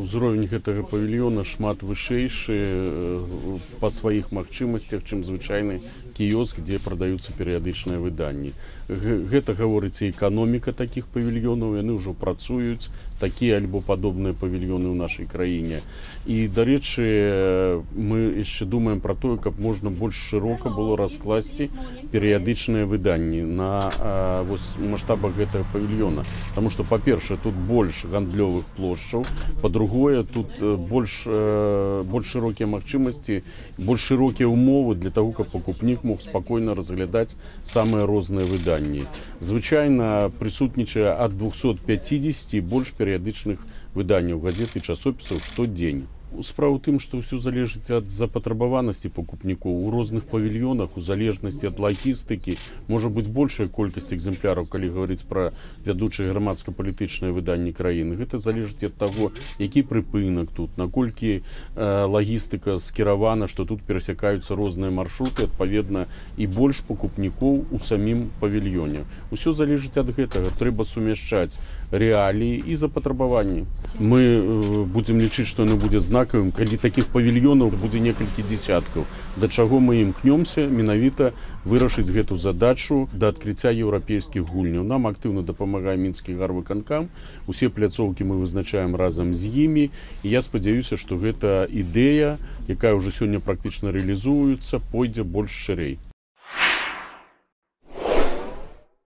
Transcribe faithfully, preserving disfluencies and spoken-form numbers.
Узровень гэтага павільёна шмат вышэйшы па сваіх магчымасцях, чым звычайны кіёск, дзе прадаюцца перыядычныя выданні. Гэта гаворыць і эканоміка такіх павільёнаў, яны ўжо працуюць, такія альбо падобныя павільёны ў нашай краіне. І, дарэчы, мы яшчэ думаем пра тое, каб можна больш шырока было раскласці перыядычныя выданні на вось маштабах гэтага павільёна. Таму што, па-першае, тут больш гандлёвых плошчаў, па-другое, тут больш, больш шырокія магчымасці, больш шырокія ўмовы для таго, каб пакупнік мог спакойна разглядаць самыя розныя выданні. Звычайна прысутнічае ад двухсот пяцідзесяці больш перыядычных выданняў газет і часопісаў штодзень. Справа ў тым, што ўсё залежыць ад запатрабаванасці пакупнікоў. У розных павільёнах, у залежнасці ад лагістыкі, можа быць большая колькасць экземпляраў, калі гаварыць пра вядучыя грамадска-палітычныя выданні краіны. Гэта залежыць ад таго, які прыпынак тут, наколькі э, лагістыка скіравана, што тут перасякаюцца розныя маршруты, адпаведна, і больш пакупнікоў у самім павільёне. Усё залежыць ад гэтага. Трэба сумяшчаць рэаліі і запатрабаванні. Мы э, будзем лічыць, што яно будзе знак, калі такіх павільёнаў будзе некалькі дзесяткаў. Да чаго мы імкнёмся менавіта вырашыць гэту задачу да адкрыцця еўрапейскіх гульняў. Нам актыўна дапамагае мінскі гарвыканкам. Усе пляцоўкі мы вызначаем разам з імі. І я спадзяюся, што гэта ідэя, якая ўжо сёння практычна рэалізуецца, пойдзе больш шырэй.